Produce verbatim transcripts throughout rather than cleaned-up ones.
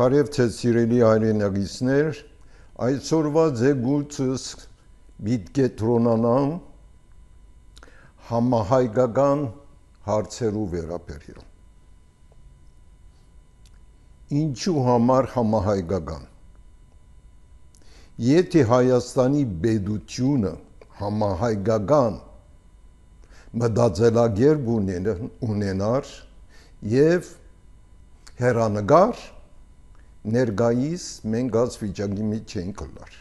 Բարև թե սիրելի հայրենագիցներ, այսօրվա ձեգույցս պիտի կենտրոնանամ համահայկական հարցերու վերաբերյալ։ Ինչու համար համահայկական։ Եթե Հայաստանի պետությունը համահայկական մտածելակերպ ունենար եւ հեռանկար ներկայիս մենք այս վիճակի մեջ չենք գալար։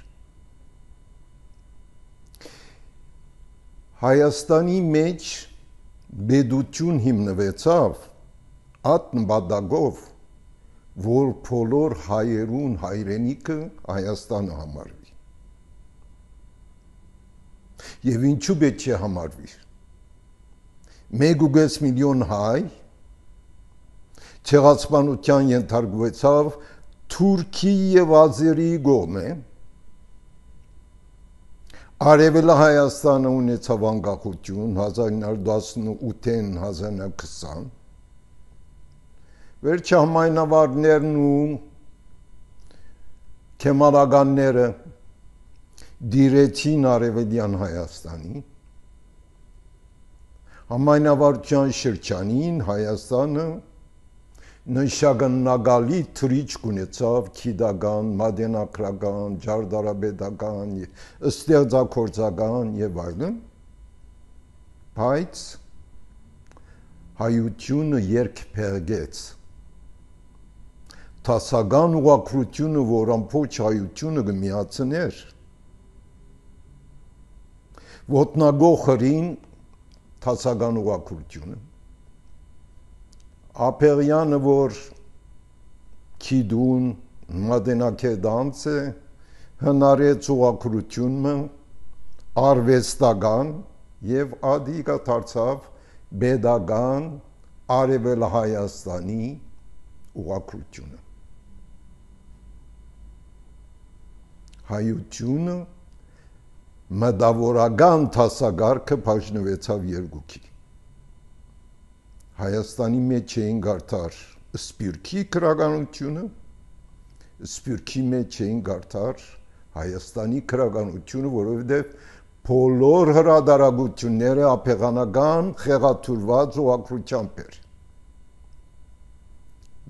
Հայաստանի մեջ պետություն հիմնվեցավ այդ նպատակով, որ բոլոր հայերուն հայրենիքը Հայաստանը համարվի։ Եվ ինչու պետք է համարվի։ Մեկ ու կես միլիոն հայ ցեղասպանության ենթարկվեցավ Թուրքի եւ Ազերի կողմէ, Արևելա Հայաստանը ունեցավ անկախություն հազար ինը հարյուր տասնութին հազար ինը հարյուր քսան, վերջահամայնավարներն ու քեմալականները դիրեցին Արևելյան Հայաստանի, համայնավարության շրջանին Հայաստանը նշանակալի թրիչք ունեցավ գիտական, մատենագրական, ճարտարապետական, ստեղծագործական եւ այլն, բայց հայությունը երկփեղկեց։ Տասական ուղղակրությունը, որ ամբողջ հայությունը կմիացներ, ոտնագողրին տասական ուղղակրությունը, Ափեղյանը, որ քիդուն մատենակեդանց է, հնարեց ուղղակրությունը արվեստական եւ ադիգա դարձավ պետական Արևելա Հայաստանի ուղղակրությունը։ Հայությունը մտավորական տասակարգը բաժնվեցավ երկուքի։ Հայաստանի մեջ էին գարտար սպիրկի քրագանությունը, սպիրկի մեջ էին գարտար Հայաստանի քրագանությունը, որովհետև բոլոր հրադարագությունները ափեղանական խեղաթյուրված ուղղակրությամբ էր։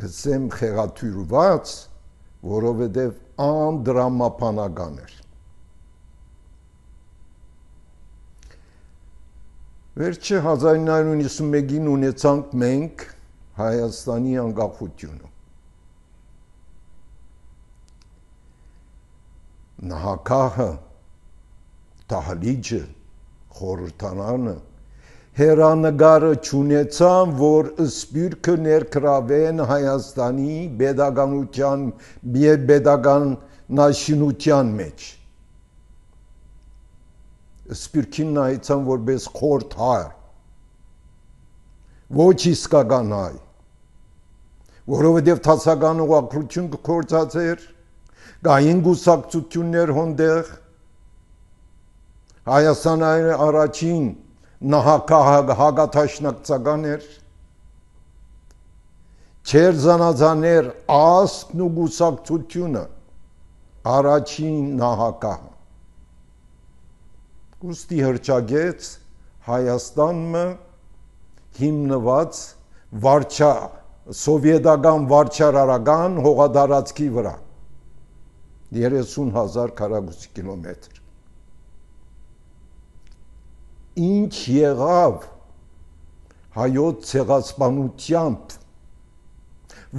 Գսեմ խեղաթյուրված, որովհետև անդրամապանական էր։ Վերջը հազար ինը հարյուր նվաթ մեկին ունեցանք մենք Հայաստանի անկախությունը։ Նահանգահը, դահլիճը, խորհրդարանը, հեռանկարը չունեցան, որ սպիրկը ներգրավեն Հայաստանի պետականության եւ պետականաշինության մեջ։ Սպիրկին նայեցան որպես խորթ հայ, ոչ իսկական հայ, որովհետև տասական ուղղակրություն կգործածեր, կային գուսակցություններ հոնդեղ, Հայաստանը առաջին հակաթաշնակցական էր, չեր զանազաներ ասկն ու գուսակցությունը առաջին նահանգահը։ Ուստի հրճագեց Հայաստանը հիմնված վարչա, սովետական վարչարարական հողատարածքի վրա, երեսուն հազար քառակուսի կիլոմետր։ Ինչ եղավ հայոց ցեղասպանությամբ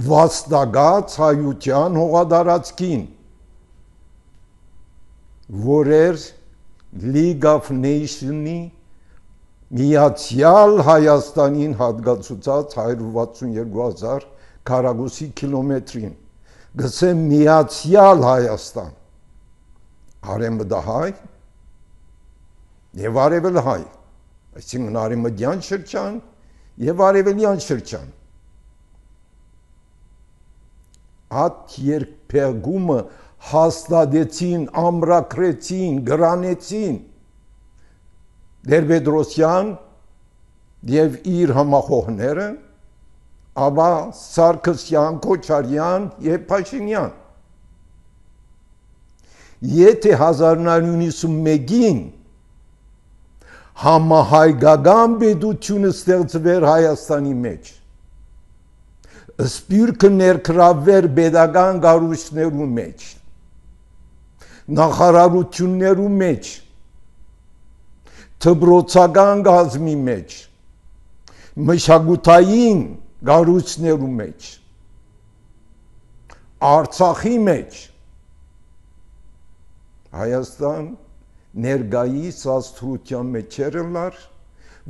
վաստակած հայության հողատարածքին, որ էր League of Nations-ի Միացյալ Հայաստանին հատկացուցած հարյուր վաթսունյոթ հազար քառակուսի կիլոմետրին, գսեմ Միացյալ Հայաստան, արևմտահայ եւ արևելահայ, այսինքն արևմտյան շրջան եւ արևելյան շրջան։ Այդ երկփեղկումը հաստատեցին, ամրագրեցին, գրանեցին Տեր-Պետրոսյան եւ իր համախոհները Աբա Սարգսյան, Քոչարյան եւ Փաշինյան։ Եթե հազար նոյ հարյուր նոյնասունմեկին համահայկական պետությունը ստեղծվեր Հայաստանի մեջ, սպյուրքը ներգրավվեր պետական կառույցներու մեջ, նախարարություններու մեջ, դպրոցական կազմի մեջ, մշակութային կառույցներու մեջ, Արցախի մեջ, Հայաստան ներկայիս աստղության մեջ երելար,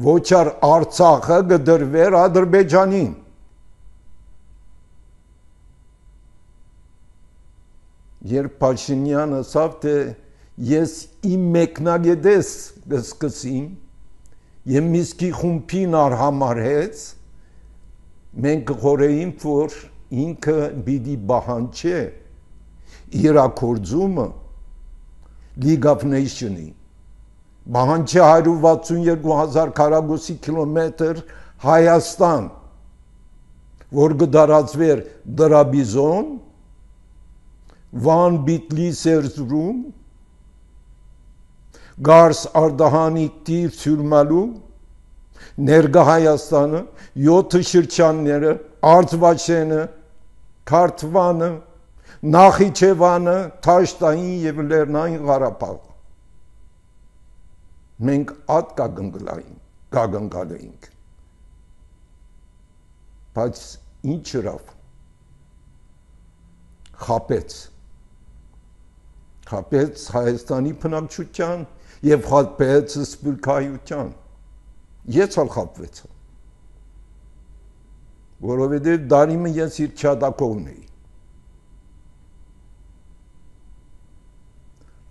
ոչ առ Արցախը կդրվեր Ադրբեջանին։ Երբ Փաշինյանը ասավ, թե ես իմ մեկնագետես կսկսím, եւ Միսկի խումբին արհամարհեց, մենք կխորեինք, որ ինքը պիտի բահանջե իրաքորձումը League of Nations-ի, բահանջե հարյուր վաթսունյոթ հազար քառակուսի կիլոմետր Հայաստան, որ կդարածվեր Դրաբիզոն, Վան Բիտլիս Էրզրում, Գարս Արդահանի Տիվ Սյուրմալու, ներկա Հայաստանը, յոթ շրջանները, Արցվաշենը, Քարթվանը, Նախիջևանը, Թաշտային եւ Լեռնային Ղարաբաղը։ Մենք ատ կագնգալ էինք։ Բայց ինչ հրավ, խապեց, խապեց Հայաստանի բնակչության եւ խապեց սփյուռքահայության, ես ալ խապվեցա, որովհետեւ դարիմը ես իր չադակողն էի,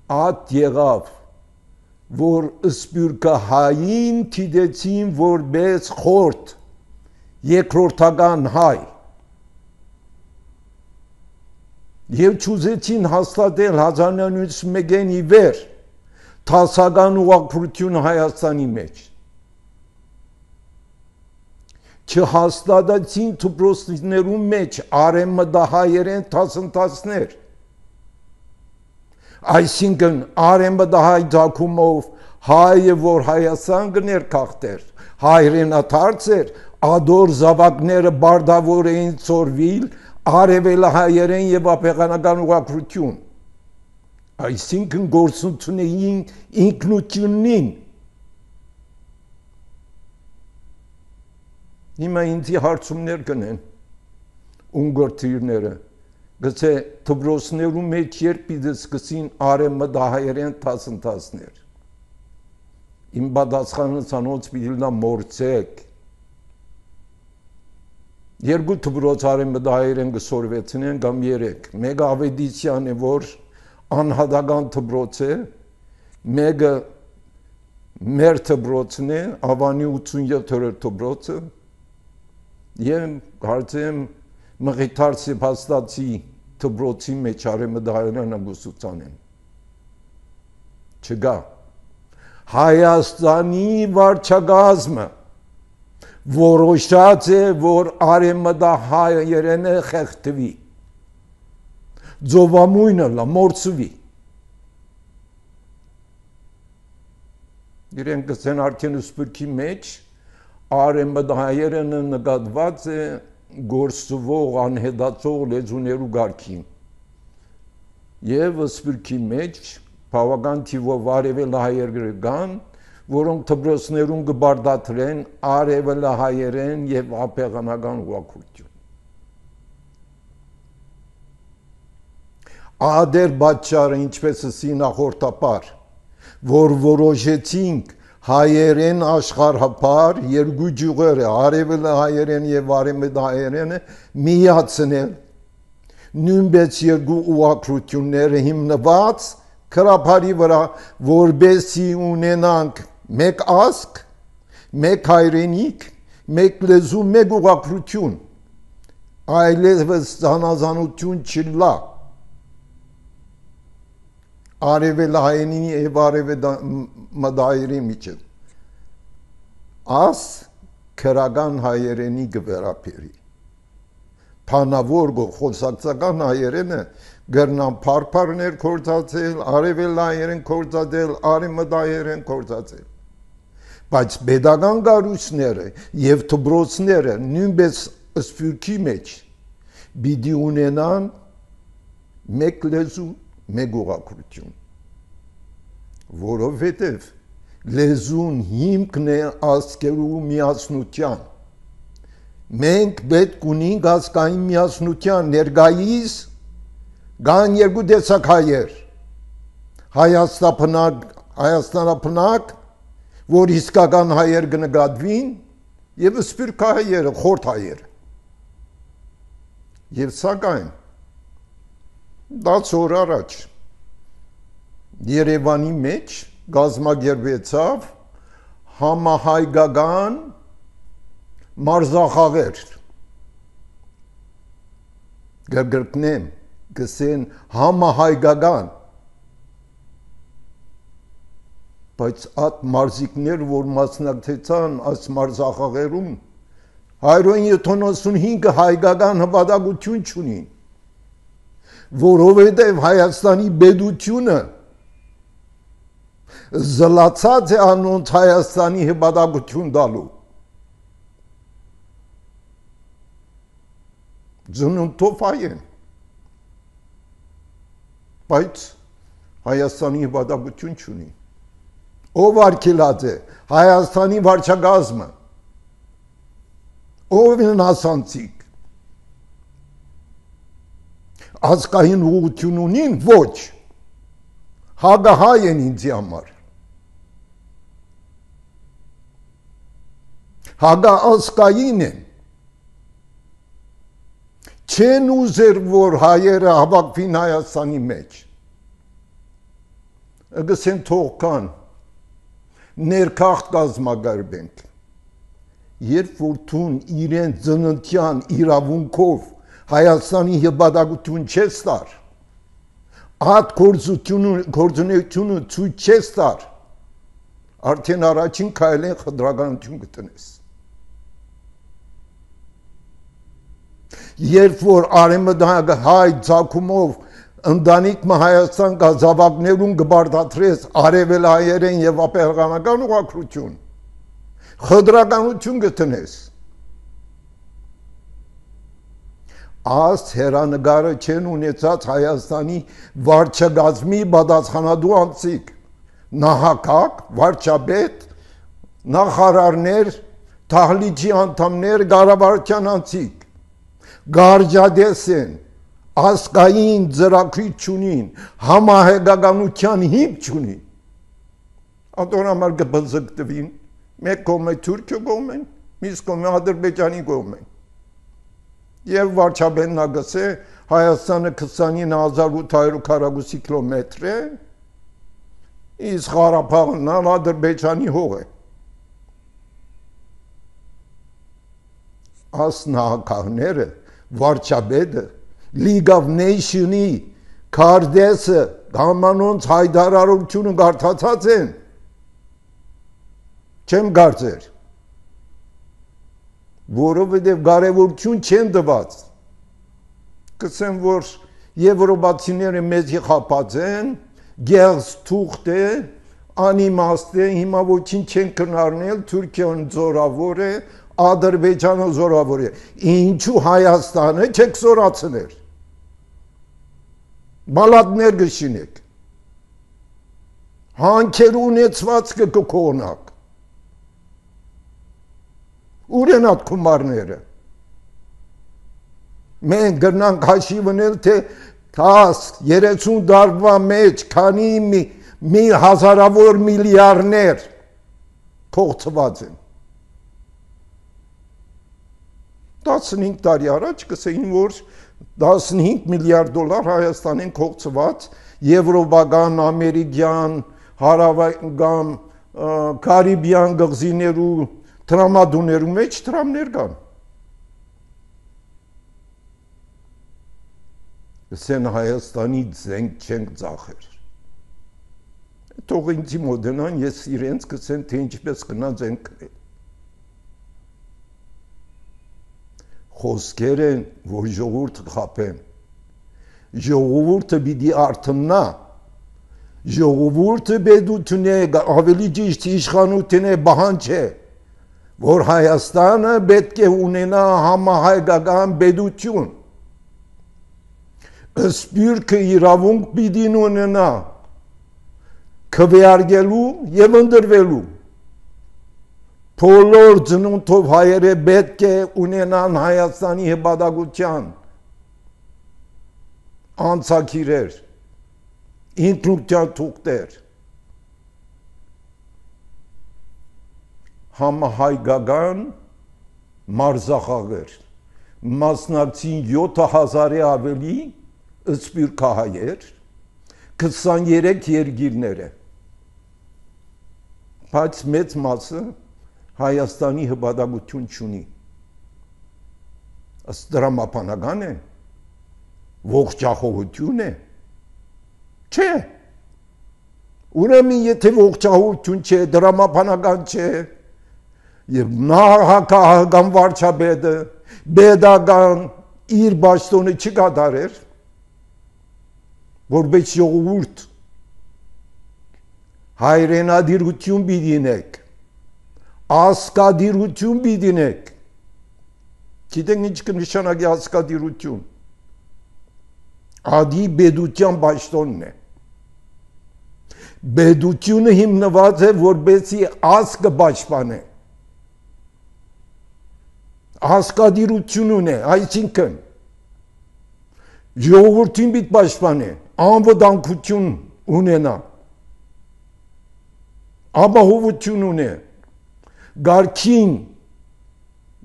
ատ եղավ, որ սփյուռքահային թիդեցին որպես խորտ, երկրորդական հայ, եւ չուզեցին հաստատել հազար նոյ հարյուր նոյնասունմեկին ի վեր թասական ուղղափառություն Հայաստանի մեջ, չհաստատեցին դպրոցներու մեջ արևմտահայերեն դասընթացներ, այսինքն արևմտահայ ցակումով հայը, որ Հայաստան կներքախտեր, հայրենադարձ էր, ադոր զավակները բարդավոր էին ծորվիլ, արևելահայերեն եւ ապեղանական ուղղափառություն, այսինքն գործունեություն էին ինքնությունին։ Հիմա ինձի հարցումներ կնեն ունգորտիրները, գցե դպրոցներու մեջ երբ պիտի սկսին արևմտահայերեն դասընթացներ։ Իմ պատասխանը ցանոց պիտի լա մորցեք։ Երկու դպրոց արևմտահայերեն կսորվեցնեն կամ երեք։ Մեկը Ավետիսյան է, որ անհատական դպրոց է, մեկը մեր դպրոցն է, Ավանի ութսունյոթերորդ դպրոցը, եւ կարծեմ Մղիթարսի փաստացի դպրոցի մեջ արևմտահայերեն ուսուցանեն։ Չգա։ Հայաստանի վարչակազմը որոշած է, որ արևմտահայերենը խեղդվի, ծովամույնը լա մորցվի։ Իրենք կսեն արդեն սփյուռքի մեջ արևմտահայերենը նկատված է գործվող անհետացող լեզուներու գարքին եւ սփյուռքի մեջ բավական թիվով արևելահայեր կան, որոնք դպրոցներում կբարդատրեն արևելահայերեն եւ ապեղանական ուղղափառություն։ Ադեր պատճառը, ինչպես ասի նախորդապար, որ որոշեցինք հայերեն աշխարհապար երկու ջուղերը, արևելահայերեն եւ արևմտահայերենը միացնել, նույնպես երկու ուղղափառությունները հիմնված քրափարի վրա, որբեսի ունենանք մեկ ազգ, մեկ հայրենիք, մեկ լեզու, մեկ ուղղափառություն, այլևս զանազանություն չլա արևելահայերենի եւ արևմտահայերի միջեւ, աս քրական հայերենի գվերապերի, փանավոր խոսակցական հայերենը գրնան փարփարներ կործացել, արևելայերեն կործացել, արևմտայերեն կործացել։ Բայց pedagogan գարուսները եւ դպրոցները նույնպես սփյուռքի մեջ պիտի ունենան մեկ լեզու, մեկ ուղղություն, որովհետեւ լեզուն հիմքն է ազգերու միասնության։ Մենք պետք ունենք ազգային միասնության ներկայիս կան երկու տեսակ հայեր, Հայաստանապնակ, Հայաստանապնակ, որ իսկական հայեր կնկատվին, եւ սփյուռք հայերը, խորթ հայերը։ Եվ սակայն դաց օր առաջ Երևանի մեջ գազմագերբեցավ համահայկական մարզախաղեր։ Գրգրկնեմ, գսեն համահայկական, բայց այդ մարզիկներ, որ մասնակցեցան այս մարզախաղերում, հայրեն յոթանասունհինգ հայկական հպատակություն չունին, որովհետև Հայաստանի պետությունը զլացած է անոնց Հայաստանի հպատակություն տալու։ Ծնունդով հայ են, բայց Հայաստանի հպատակություն չունի։ Ով արգելած է Հայաստանի վարչակազմը, ով են ասանցիկ, ազգային ուղղություն ունին, ոչ, հագահայ են ինձի համար, հագաազգային են, չեն ուզեր, որ հայերը հավաքվին Հայաստանի մեջ, գսեն թող կան, ներքախտ կազմակերպենք, երբ որ թուն իրեն ծննդյան իրավունքով Հայաստանի հպատակություն չես տար, այդ գործունեությունը ցույց չես տար, արդեն առաջին քայլեն խտրականություն կտնես։ Երբ որ արևմտյան հայ ցակումով ընտանիքը Հայաստան գազավակներուն կբարդատրես արևելայերեն եւ ապերգանական ուղղություն, խտրականություն կտնես։ Աս հերանագարը չեն ունեցած Հայաստանի վարչակազմի պատասխանատու անձիկ, նահանգակ, վարչապետ, նախարարներ, թահլիճի անդամներ, կառավարության անձիկ, գարջադես են, ազգային ծրագրի չունին, համահայկականության հիմք չունին։ Ատոն համար կբզկտվին, մեկ կողմը Թուրքիա կողմեն, մյուս կողմը Ադրբեջանի կողմեն։ Եվ վարչապետն ագսե Հայաստանը քսանինը հազար ութ հարյուր քառակուսի կիլոմետր է, իսկ Ղարաբաղն Ադրբեջանի հող է։ Աս նահանգները, վարչապետը, League of Nations-ի քարտեզը համանոնց հայտարարությունը կարդացած են, չեմ կարծեր, որովհետև կարևորություն չեն տված, կսեմ, որ եվրոպացիները մեզի խաբած են, գեղձ թուղթ է, անիմաստ է, հիմա ոչինչ չեն քննարկել, Թուրքիան զորավոր է, Ադրբեջանը զորավոր է, ինչու Հայաստանը չեք զորացնել, բալատներ գշինեք, հանքեր ունեցվածքը կքողնակ, ուր են այդ գումարները, մենք գրնանք հաշիվնել, թե երեսուն տարվա մեջ քանի մի հազարավոր միլիարդներ փոխծված են։ տասնհինգ տարի առաջ կսեին, որ տասնհինգ միլիարդ դոլար Հայաստանին կողծված եվրոպական, ամերիկյան, հարավական, կարիբյան գղզիներու տրամադուներու մեջ տրամներ կան։ Կսեն Հայաստանի ձենք չենք ծախեր։ Թող ինձի մոդենան, ես իրենց կսեն, թե ինչպես կնա ձենք կնել։ խոսքեր են, որ ժողովուրդը խափեն։ Ժողովուրդը պիտի արթնա, ժողովուրդը պետություն է, ավելի ճիշտ իշխանություն է, բանջ է, որ Հայաստանը պետք է ունենա համահայկական պետություն, սպյուրքը իրավունք պիտի ունենա քվեարկելու եւ ընտրվելու։ Բոլոր ծնունդով հայերը պետք է ունենան Հայաստանի հպատակության անցակիրեր, ինքնության թուղթեր, համահայկական մարզախաղեր, մասնակցին յոթ հազարի ավելի սպյուրքահայեր, քսաներեք երկիրները, բայց մեծ մասը Հայաստանի հպատակություն չունի։ Ըստ դրամապանական է, ողջախոհություն է, չէ։ Ուրեմն եթե ողջախոհություն չէ, դրամապանական չէ, եւ նախագահական վարչապետը պետական իր պաշտոնը չկատարեր, որպես ժողովուրդ հայրենադիրություն պիտի ունեք, ասկադիրություն պիտի ունեք։ Գիտեք ինչ կնշանակի ասկադիրություն։ Ադի պետության պաշտոնն է։ Պետությունը հիմնված է, որպեսզի ազգը պաշտպանե։ Ասկադիրություն ունի, այսինքն ժողովրդին պիտի պաշտպանե, անվտանգություն ունենա, ապահովություն ունի, գարքին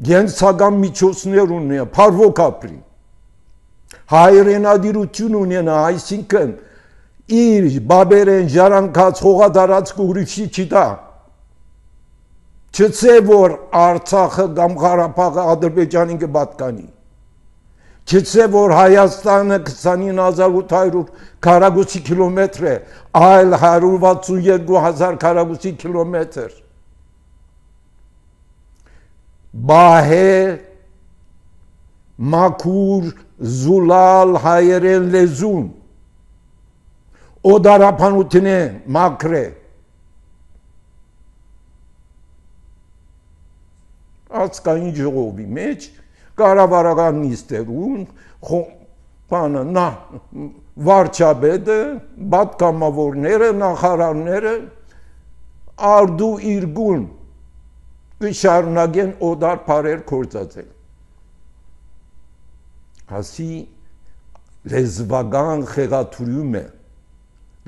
գենցական միջոցներ ունի, փառվոք ապրի, հայրենադիրություն ունենա, այսինքն իր բաբերեն ժառանգած հողատարածքը ուրիշի չտա, չծե որ Արցախը կամ Ղարաբաղը Ադրբեջանին կպատկանի, չծե որ Հայաստանը քսանինը հազար ութ հարյուր քառակուսի կիլոմետր է, այլ հարյուր վաթսունյոթ հազար քառակուսի կիլոմետր, բահե, մաքուր, զուլալ հայերեն լեզուն, օդարապանություն է մաքր է, ազգային ժողովի մեջ, կառավարական նիստերուն, բանը, նա, վարչապետը, պատգամավորները, նախարարները, արդու իրգուն, կշարունակեն օդար փարեր գործածել։ Հասի լեզվական խեղաթյուրում է,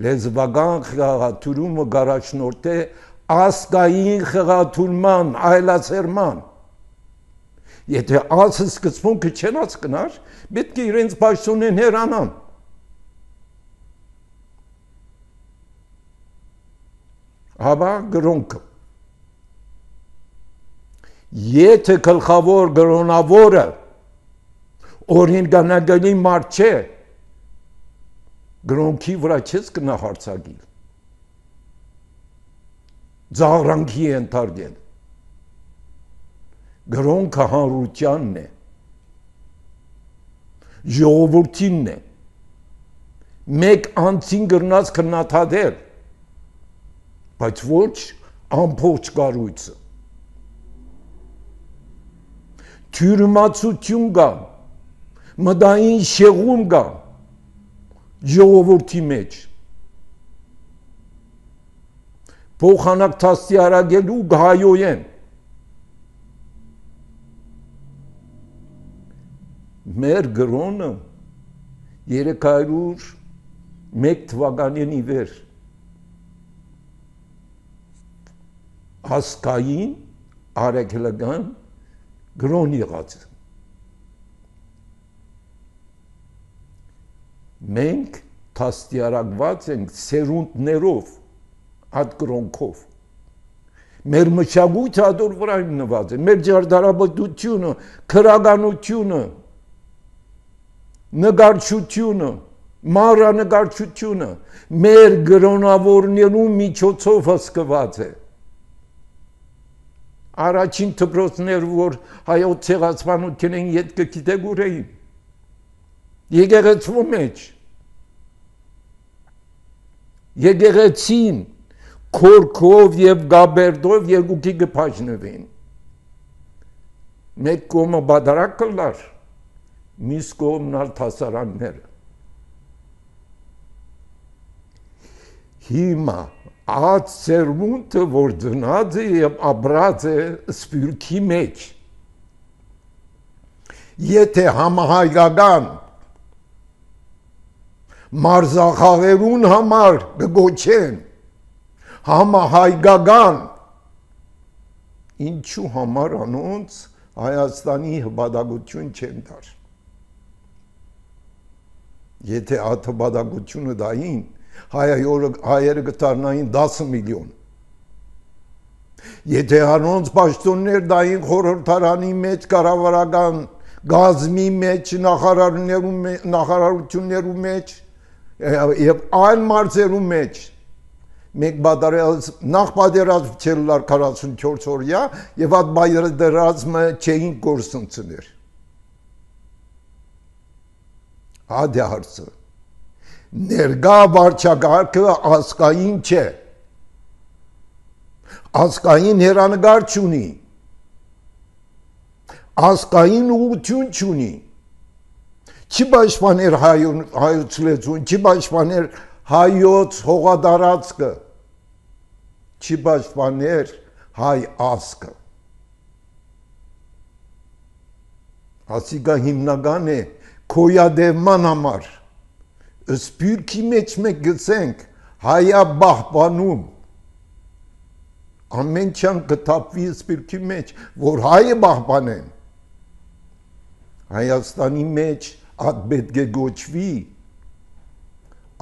լեզվական խեղաթյուրումը գարաշնորհ է ազգային խեղաթյուրման, այլացերման։ Եթե ազգը սկզբունքը չեն հասկնար, պետք է իրենց պաշտոնեն հեռանան։ Հաբա գրոնքը։ Եթե գլխավոր գրոնավորը օրինականագելի մարդ չէ, գրոնքի վրա չես կնահարցակի, ձաղրանքի է ընթարգել, գրոնքը հանրությանն է, ժողովրդինն է, մեկ անձին գրնած կնաթադել, բայց ոչ ամբողջ կառույցը, թյուրիմացություն կա, մտային շեղում կա ժողովրդի մեջ, փոխանակ դաստիարակելու գայոյեն, մեր գրոնը երեք հարյուր մեկ թվականին ի վեր ազգային առաքելական գրոն եղած է։ Մենք դաստիարակված ենք սերունդներով, այդ գրոնքով։ Մեր մշակույթը ադոր վրա հիմնված է, մեր ջարդարապետությունը, քրագանությունը, նկարչությունը, մանրանկարչությունը մեր գրոնավորներու միջոցով հսկված է։ Առաջին դպրոցներ, որ հայոց ցեղասպանությունն յետքը գիտեք ուր էին։ Եկեղեցու մեջ։ Եկեղեցին քորքով եւ գաբերդով երկուքի կփաշնվին։ Մեկ կողմը բادرակ կլար, մյուս կողմն ալ թասարանները։ Հիմա այդ սերմունտը, որ դնած է եւ ապրած է սպյուրքի մեջ, եթե համահայկական մարզախաղերուն համար կգոչեն, համահայկական, ինչու համար անոնց Հայաստանի հպատակություն չեն դար։ Եթե այդ հպատակությունը դային, հայերը կդառնային դասը միլիոն։ Եթե անոնց պաշտոններ դային խորհրդարանի մեջ, կառավարական գազմի մեջ, նախարարություններու մեջ եւ այլ մարզերու մեջ, մեկ բادرած նախ պատերազմ չելար քառասունչորս օրյա եւ այդ պատերազմը չէին գործընծներ։ Հադե հարցը ներկա վարչակարգը ազգային չէ, ազգային հերանեկար չունի, ազգային ուղղություն չունի, չի պաշտպաներ հայոց լեզուն, չի պաշտպաներ հայոց հողատարածքը, չի պաշտպաներ հայ ազգը։ Ասիկա հիմնական է քոյադևման համար, սպյուրքի մեջ մենք գցենք հայա բահբանում, ամեն չան կթապվի սպյուրքի մեջ, որ հայը բահբանեն, Հայաստանի մեջ այդ պետք է գոչվի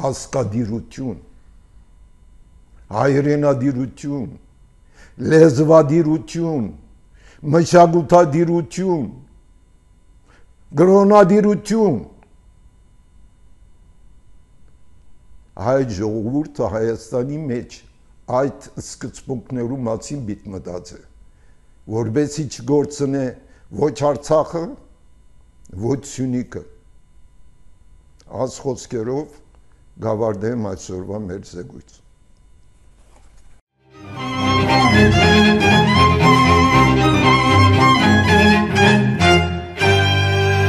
ազգադիրություն, հայրենադիրություն, լեզվադիրություն, մշակութադիրություն, գրոնադիրություն, այդ ժողովուրդը Հայաստանի մեջ այդ սկզբունքներու մասին պիտի մտածի, որպեսզի չգործնե ոչ Արցախը, ոչ Սյունիքը։ Այս խոսքերով գավարդեմ այսօրվա մեր զեկույցը։